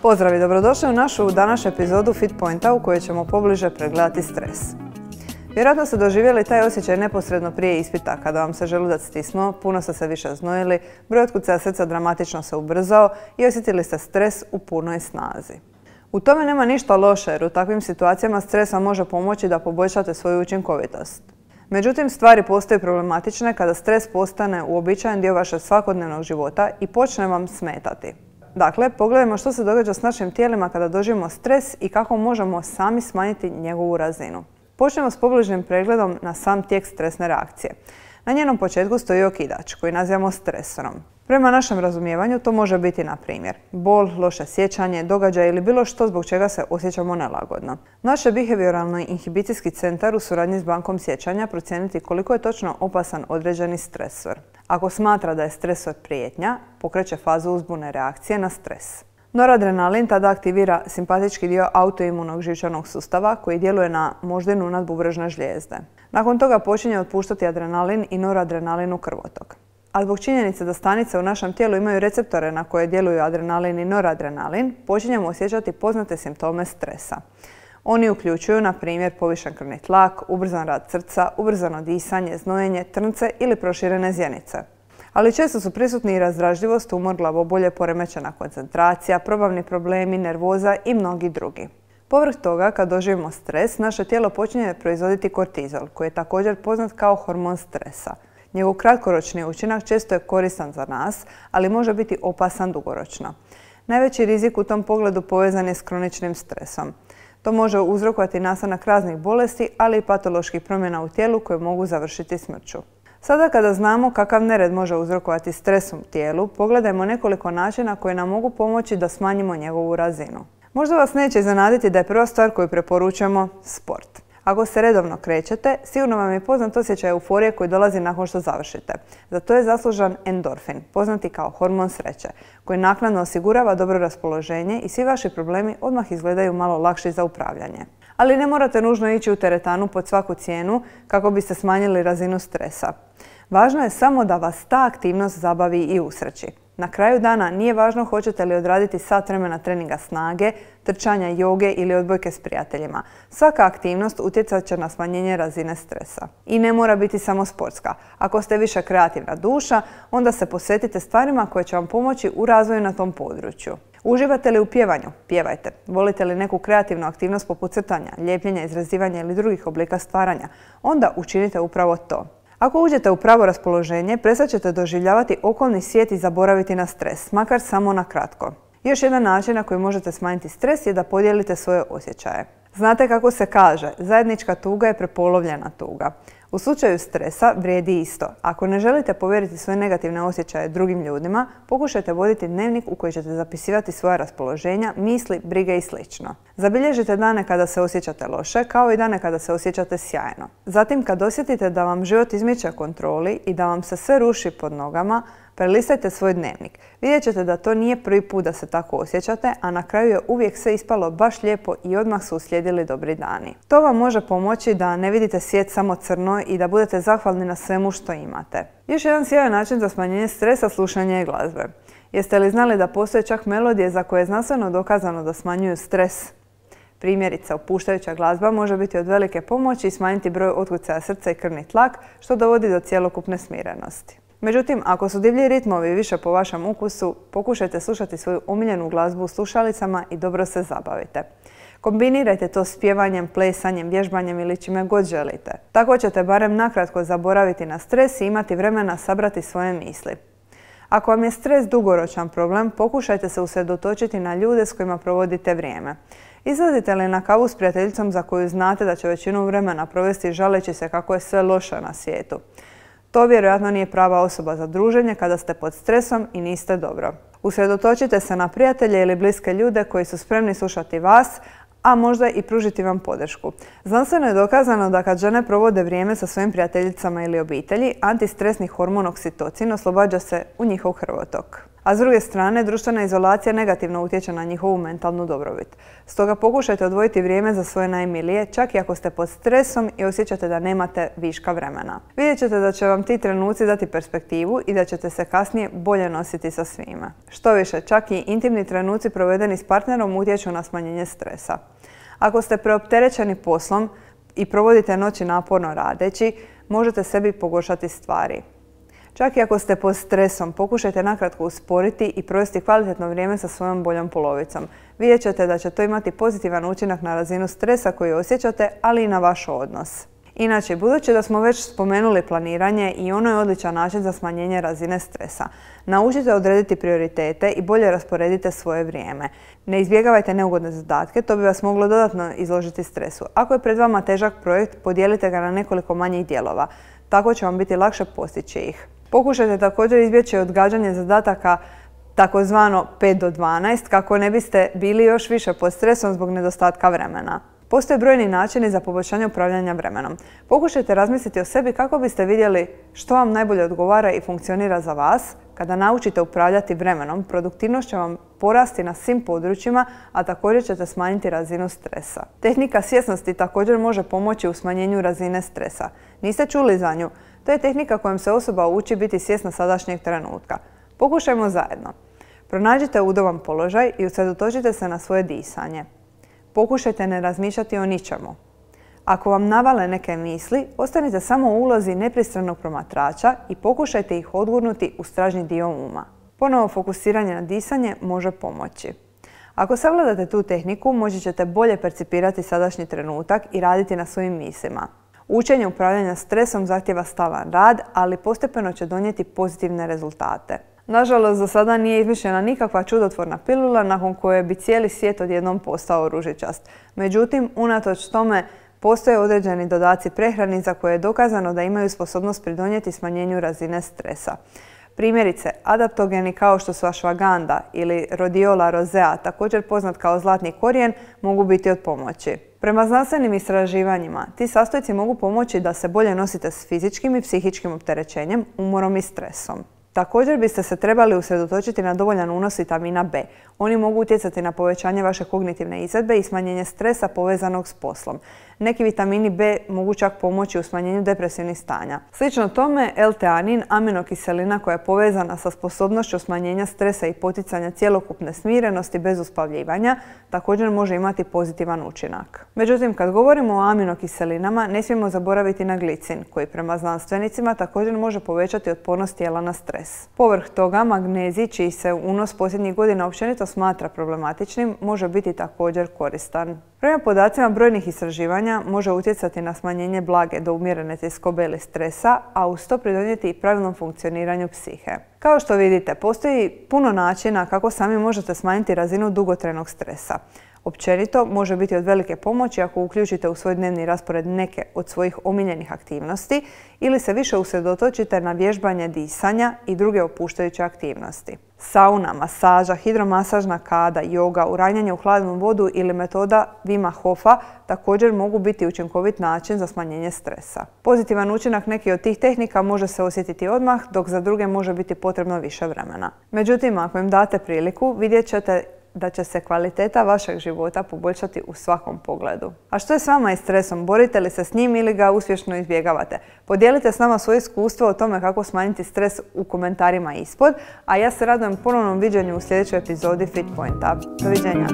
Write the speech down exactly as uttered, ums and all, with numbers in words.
Pozdrav i dobrodošli u našu današnju epizodu Fitpointa u kojoj ćemo pobliže pregledati stres. Vjerojatno ste doživjeli taj osjećaj neposredno prije ispita, kada vam se želudac stisnuo, puno ste se više znojili, broj otkucaja srca dramatično se ubrzao i osjetili ste stres u punoj snazi. U tome nema ništa loše jer u takvim situacijama stres vam može pomoći da poboljšate svoju učinkovitost. Međutim, stvari postaju problematične kada stres postane uobičajen dio vašeg svakodnevnog života i počne vam smetati. Dakle, pogledajmo što se događa s našim tijelima kada doživimo stres i kako možemo sami smanjiti njegovu razinu. Počnemo s pobližnim pregledom na sam tijek stresne reakcije. Na njenom početku stoji okidač, koji nazivamo stresorom. Prema našem razumijevanju to može biti, na primjer, bol, loše sjećanje, događaj ili bilo što zbog čega se osjećamo nelagodno. Naš behavioralni inhibicijski centar u suradnji s bankom sjećanja procijeniti koliko je točno opasan određeni stresor. Ako smatra da je stresor prijetnja, pokreće fazu uzbune reakcije na stres. Noradrenalin tada aktivira simpatički dio autoimunog živčanog sustava koji djeluje na moždinu nadbubrežne žlijezde. Nakon toga počinje otpuštati adrenalin i noradrenalin u krvotok. A zbog činjenice da stanice u našem tijelu imaju receptore na koje djeluju adrenalin i noradrenalin, počinjemo osjećati poznate simptome stresa. Oni uključuju, na primjer, povišen krvni tlak, ubrzan rad srca, ubrzano disanje, znojenje, trnce ili proširene zjenice. Ali često su prisutni i razdražljivost, umor, glavobolje, poremećena koncentracija, probavni problemi, nervoza i mnogi drugi. Povrh toga, kad doživimo stres, naše tijelo počinje proizvoditi kortizol, koji je također poznat kao hormon stresa. Njegov kratkoročni učinak često je koristan za nas, ali može biti opasan dugoročno. Najveći rizik u tom pogledu povezan je s kroničnim stresom. To može uzrokovati nastanak raznih bolesti, ali i patoloških promjena u tijelu koje mogu završiti smrću. Sada kada znamo kakav nered može uzrokovati stres u tijelu, pogledajmo nekoliko načina koji nam mogu pomoći da smanjimo njegovu razinu. Možda vas neće iznenaditi da je prva stvar koju preporučujemo sport. Ako se redovno krećete, sigurno vam je poznat osjećaj euforije koji dolazi nakon što završite. Za to je zaslužan endorfin, poznati kao hormon sreće, koji naknadno osigurava dobro raspoloženje i svi vaši problemi odmah izgledaju malo lakši za upravljanje. Ali ne morate nužno ići u teretanu pod svaku cijenu kako biste smanjili razinu stresa. Važno je samo da vas ta aktivnost zabavi i usreći. Na kraju dana nije važno hoćete li odraditi sat vremena treninga snage, trčanja, joge ili odbojke s prijateljima. Svaka aktivnost utjecat će na smanjenje razine stresa. I ne mora biti samo sportska. Ako ste više kreativna duša, onda se posvetite stvarima koje će vam pomoći u razvoju na tom području. Uživate li u pjevanju? Pjevajte. Volite li neku kreativnu aktivnost poput crtanja, lijepljenja, izrezivanja ili drugih oblika stvaranja? Onda učinite upravo to. Ako uđete u pravo raspoloženje, prestat ćete doživljavati okolni svijet i zaboraviti na stres, makar samo na kratko. Još jedan način na koji možete smanjiti stres je da podijelite svoje osjećaje. Znate kako se kaže, zajednička tuga je prepolovljena tuga. U slučaju stresa vrijedi isto. Ako ne želite povjeriti svoje negativne osjećaje drugim ljudima, pokušajte voditi dnevnik u koji ćete zapisivati svoja raspoloženja, misli, brige i sl. Zabilježite dane kada se osjećate loše, kao i dane kada se osjećate sjajno. Zatim, kad osjetite da vam život izmiče kontroli i da vam se sve ruši pod nogama, prelistajte svoj dnevnik. Vidjet ćete da to nije prvi put da se tako osjećate, a na kraju je uvijek sve ispalo baš lijepo i odmah su uslijedili dobri dani. To vam može pomoći da ne vidite svijet samo crno i da budete zahvalni na svemu što imate. Još jedan sjajan način za smanjenje stresa slušanje je glazbe. Jeste li znali da postoje čak melodije za koje je znanstveno dokazano da smanjuju stres? Primjerice, opuštajuća glazba može biti od velike pomoći i smanjiti broj otkucaja srca i krvni tlak, što dovodi do cjelokupne smirenosti. Međutim, ako su divlji ritmovi više po vašem ukusu, pokušajte slušati svoju omiljenu glazbu u slušalicama i dobro se zabavite. Kombinirajte to s pjevanjem, plesanjem, vježbanjem ili čime god želite. Tako ćete barem nakratko zaboraviti na stres i imati vremena sabrati svoje misli. Ako vam je stres dugoročan problem, pokušajte se usredotočiti na ljude s kojima provodite vrijeme. Izlazite li na kavu s prijateljicom za koju znate da će većinu vremena provesti žaleći se kako je sve loše na svijetu? To vjerojatno nije prava osoba za druženje kada ste pod stresom i niste dobro. Usredotočite se na prijatelje ili bliske ljude koji su spremni slušati vas, a možda i pružiti vam podršku. Znanstveno je dokazano da kad žene provode vrijeme sa svojim prijateljicama ili obitelji, antistresni hormon oksitocin oslobađa se u njihov krvotok. A s druge strane, društvena izolacija negativno utječe na njihovu mentalnu dobrobit. Stoga pokušajte odvojiti vrijeme za svoje najmilije, čak i ako ste pod stresom i osjećate da nemate viška vremena. Vidjet ćete da će vam ti trenuci dati perspektivu i da ćete se kasnije bolje nositi sa svime. Što više, čak i intimni trenuci provedeni s partnerom utječu na smanjenje stresa. Ako ste preopterećeni poslom i provodite noći naporno radeći, možete sebi pogoršati stvari. Čak i ako ste pod stresom, pokušajte nakratko usporiti i provesti kvalitetno vrijeme sa svojom boljom polovicom. Vidjet ćete da će to imati pozitivan učinak na razinu stresa koji osjećate, ali i na vaš odnos. Inače, budući da smo već spomenuli planiranje i ono je odličan način za smanjenje razine stresa. Naučite odrediti prioritete i bolje rasporedite svoje vrijeme. Ne izbjegavajte neugodne zadatke, to bi vas moglo dodatno izložiti stresu. Ako je pred vama težak projekt, podijelite ga na nekoliko manjih dijelova. Tako će vam biti lakše postići ih. Pokušajte također izbjeći odgađanje zadataka takozvano pet do dvanaest kako ne biste bili još više pod stresom zbog nedostatka vremena. Postoje brojni načini za poboljšanje upravljanja vremenom. Pokušajte razmisliti o sebi kako biste vidjeli što vam najbolje odgovara i funkcionira za vas. Kada naučite upravljati vremenom, produktivnost će vam porasti na svim područjima, a također ćete smanjiti razinu stresa. Tehnika svjesnosti također može pomoći u smanjenju razine stresa. Niste čuli za nju? To je tehnika kojom se osoba uči biti svjesna sadašnjeg trenutka. Pokušajmo zajedno. Pronađite udoban položaj i usredotočite se na svoje disanje. Pokušajte ne razmišljati o ničemu. Ako vam navale neke misli, ostanite samo u ulozi nepristranog promatrača i pokušajte ih odgurnuti u stražnji dio uma. Ponovo fokusiranje na disanje može pomoći. Ako savladate tu tehniku, moći ćete bolje percipirati sadašnji trenutak i raditi na svojim mislima. Učenje upravljanja stresom zahtjeva stalan rad, ali postepeno će donijeti pozitivne rezultate. Nažalost, za sada nije izmišljena nikakva čudotvorna pilula nakon koje bi cijeli svijet odjednom postao ružičast. Međutim, unatoč tome, postoje određeni dodaci prehrani za koje je dokazano da imaju sposobnost pridonijeti smanjenju razine stresa. Primjerice, adaptogeni kao što su ashwagandha ili rhodiola rosea, također poznat kao zlatni korijen, mogu biti od pomoći. Prema znanstvenim istraživanjima, ti sastojci mogu pomoći da se bolje nosite s fizičkim i psihičkim opterećenjem, umorom i stresom. Također biste se trebali usredotočiti na dovoljan unos vitamina B. Oni mogu utjecati na povećanje vaše kognitivne izvedbe i smanjenje stresa povezanog s poslom. Neki vitamini B mogu čak pomoći u smanjenju depresivnih stanja. Slično tome, L-teanin, aminokiselina koja je povezana sa sposobnošću smanjenja stresa i poticanja cjelokupne smirenosti bez uspavljivanja, također može imati pozitivan učinak. Međutim, kad govorimo o aminokiselinama, ne smijemo zaboraviti na glicin, koji prema znanstvenicima također može povećati otpornost tijela na stres. Povrh toga, magnezij, čiji se unos posljednjih godina općenito smatra problematičnim, može biti također koristan. Prema podacima brojnih istraživanja može utjecati na smanjenje blage do umjerene tjeskobe ili stresa, a uz to pridonijeti i pravilnom funkcioniranju psihe. Kao što vidite, postoji puno načina kako sami možete smanjiti razinu dugotrajnog stresa. Općenito može biti od velike pomoći ako uključite u svoj dnevni raspored neke od svojih omiljenih aktivnosti ili se više usredotočite na vježbanje disanja i druge opuštajuće aktivnosti. Sauna, masaža, hidromasažna kada, joga, uranjanje u hladnu vodu ili metoda Wima Hofa također mogu biti učinkovit način za smanjenje stresa. Pozitivan učinak nekih od tih tehnika može se osjetiti odmah, dok za druge može biti potrebno više vremena. Međutim, ako im date priliku, vidjet ćete da će se kvaliteta vašeg života poboljšati u svakom pogledu. A što je s vama i stresom? Borite li se s njim ili ga uspješno izbjegavate? Podijelite s nama svoje iskustvo o tome kako smanjiti stres u komentarima ispod, a ja se radujem ponovnom viđenju u sljedećoj epizodi Fitpointa. Doviđenja!